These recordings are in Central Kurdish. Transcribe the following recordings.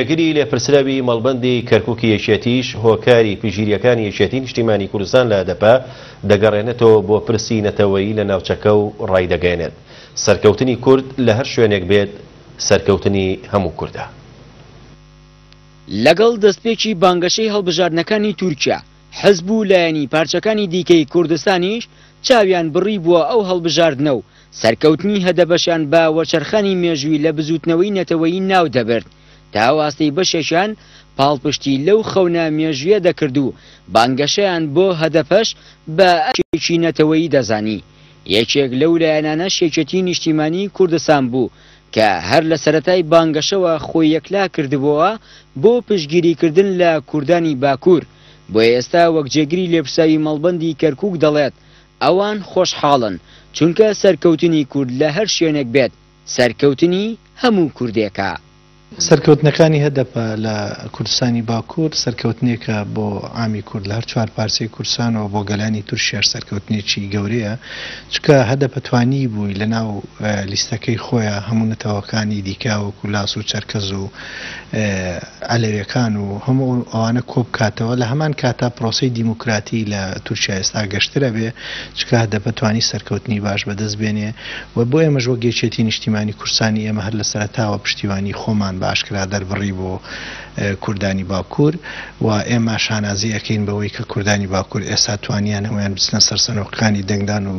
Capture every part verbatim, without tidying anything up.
جێگری لێپرسراوی مەڵبەندی کەرکوکی یەکێتیش هۆکاری پژیریەکانی یەکێتی نیشتیمانی کوردستان لە هەدەپە دەگەڕێنێتەوە بۆ پرسی نەتەوەیی لە ناوچەکە و ڕایدەگەیەنێت سەرکەوتنی کورد لە هەر شوێنێک بێت سەرکەوتنی هەموو کوردە. لەگەڵ دەستپێکی بانگەشەی هەڵبژاردنەکانی تورکیا، حزب و لایەنی پارچەکانی دیکەی کوردستانیش چاویان بڕی بووە ئەو هەڵبژاردنە و سەرکەوتنی هەدەپەشیان بە وەرچەرخانی مێژووی لە بزووتنەوەی نەتەوەیی ناو دەبرد. تا ئاستەی بەشێکیان پاڵپشتی لەو خەونە مێژوویە دەکرد و بانگەشەیان بۆ هەدەپەش بە ئەرکێکی نەتەوەیی دەزانی. یەکێک لەو لایەنانەش یەکێتی نیشتیمانی کوردستان بوو کە هەر لە سەرەتای بانگەشەوە خۆی یەکلا کردبووە بۆ پشتگیریکردن لە کوردانی باکوور. بۆیە ئێستا وەک جێگری لێپرسراوی مەڵبەندی کەرکوک دەڵێت ئەوان خۆشحاڵن چونکە سەرکەوتنی کورد لە هەر شوێنێک بێت سەرکەوتنی هەموو کوردێکە. سەرکەوتنەکانی هەدەپە لە کوردستانی باکوور سەرکەوتنێکە بۆ عامی کورد لە هەر چوار پارچەی کوردستانەوە بۆ گەلانی تورکیاش سەرکەوتنێکی گەورەیە، چونکە هەدەپە توانی بووی لەناو لیستەکەی خۆیان هەموو نەتەوەکانی دیکە وەکو لاس و چەرکەز و عەلەویەکان و هەموو ئەوانە کۆ بکاتەوە. لە هەمان کاتا پرۆسەی دیموکراتی لە تورکیا ئێستا گەشترە بێ، چونکە هەدەپە توانی سەرکەوتنی باش بەدەست بێنێ و بۆ ئێمەش وەک یەکێتی نیشتیمانی کوردستانی ئێمە هەر لە سەرەتاوە پشتیوانی خۆمان بە ئاشکرا دەربڕی بۆ کوردانی باکوور و ئێمە شانازی ئەەکەین بەوەی کە کوردانی باکوور ئێستا توانیان هەمویان بچنە سەر سەنۆقەکانی دەنگدان و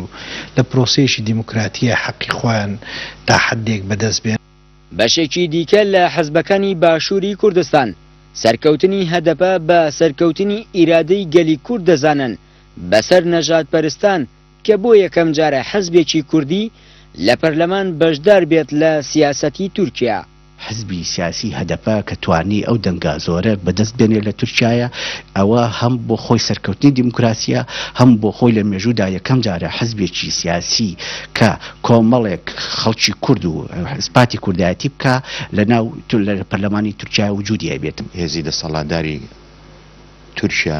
لە پرۆسەیەکی دیموکراتیە حەقی خۆیان تا حدێک بەدەست بێن. بەشێکی دیکە لە حزبەکانی باشووری کوردستان سەرکەوتنی هەدەپە بە سەرکەوتنی ئیرادەی گەلی کورد دەزانن بەسەر نەژادپەرستان کە بۆ یەکەم جارە حزبێکی کوردی لە پەرلەمان بەشدار بێت لە سیاسەتی تورکیا. حزبی سیاسی هەدەپە کە توانی ئەو دەنگا زۆرە بەدەست بێنێ لە تورکیایە، ئەوە هەم بۆ خۆی سەرکەوتنی دیموکراسیە، هەم بۆ خۆی لە مێژوودا یەکەم جارە حزبێکی سیاسی کە کۆمەڵێک خەڵکی کورد و ئیسپاتی کوردایەتی بکە لە ناو لە پەرلەمانی تورکیا وجودی هەبێت. هێزی دەسەڵاتداری تورکیا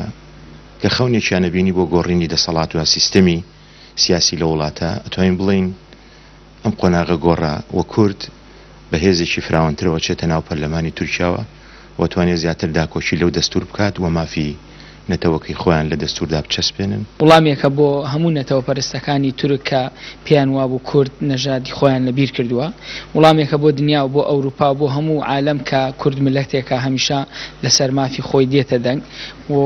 کە خەونێکیان بینی بۆ گۆڕینی دەسەڵات و سیستەمی سیاسی لە وڵاتە، ئەتوانین بڵین ئەم قۆناغە گۆڕا و کورد بە هێزێکی فراوانترەوە چێتە ناو پەرلەمانی تورکیاوە و توانێت زیاتر داکۆکی لەو دەستور بکات و مافی نەتەوەکەی خۆیان لە دەستوردا بچەسپێنن. وڵامێکە بۆ هەموو نەتەوە پەرستەکانی تورک کە پێیان وابوو کورد نەژادی خۆیان لەبیر کردووە، وڵامێکە بۆ دنیا و بۆ ئەوروپا و بۆ هەموو عالەم کە کورد ملەتێکە هەمیشە لەسەر مافی خۆی دێتە دەنگ و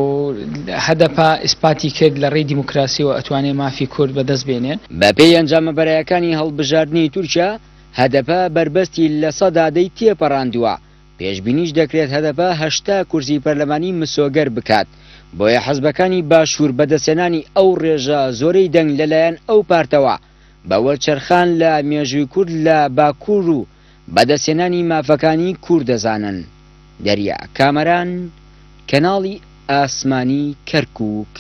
هەدەپە ئیسپاتی کرد لە ڕێی دیموکراسیەوە ئەتوانێت مافی کورد بەدەست بێنێ. بەپێی ئەنجامە بەرایەکانی هەڵبژاردنی تورکیا هەدەپە بەربەستی لە سەدا دەی تێپەڕاندووە. پێشبینیش دەکرێت هەدەپە هەشتا کورسی پەرلەمانی مسۆگەر بکات، بۆیە حەزبەکانی باشوور بەدەستهێنانی ئەو ڕێژە زۆرەی دەنگ لەلایەن ئەو پارتەوە بە وەرچەرخان لە مێژووی کورد لە باکوور و بەدەستهێنانی مافەکانی کورد دەزانن. دەریا کامەران، کەناڵی ئاسمانی کەرکووک.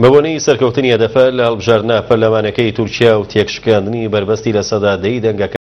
بەبۆنەی سەرکەوتنی هەدەپە لە هەڵبژاردنە پەرلەمانەکەی تورکیا و تێکشکاندنی بەربەستی لە سەدا دەی دەنگەکان